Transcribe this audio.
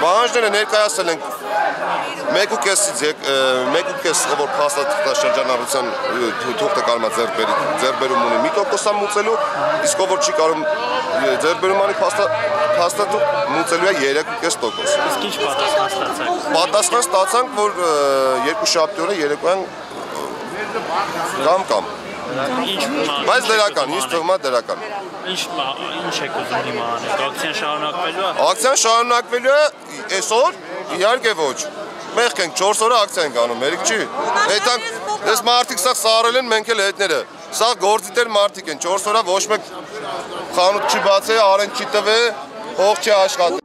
Բանջները ներկայացել ենք 1.5 որ փաստաթղթաշրջանառության թուղթը կարող է ձեռբերում ունի 1% մուծելու, իսկ ով որ չի կարող ձեռբերում անի փաստաթուղթ մուծելու է 3.5%։ Իսկ ինչ պատասխան ստացաք։ Պատասխան ստացանք, որ երկուշաբթի օրը երեկոյան կամ բայց դրական, ինձ թվում է դրական։ Ինչ եք ուզում հիմա անել։ Ակցիան շարունակվելու է։ Ակցիան շարունակվելու է այսօր, իհարկե ոչ։ Մեղք ենք 4 օրը ակցիա ենք անում, մերիկ չի։ Հետանք այս մարդիկ սա սարել են, մենք էլ հետները։ Սա գործիտեր մարդիկ են, 4 օրը ոչ մեկ խանութ չի բացել, արեն չի տվել, հող չի աշխատել։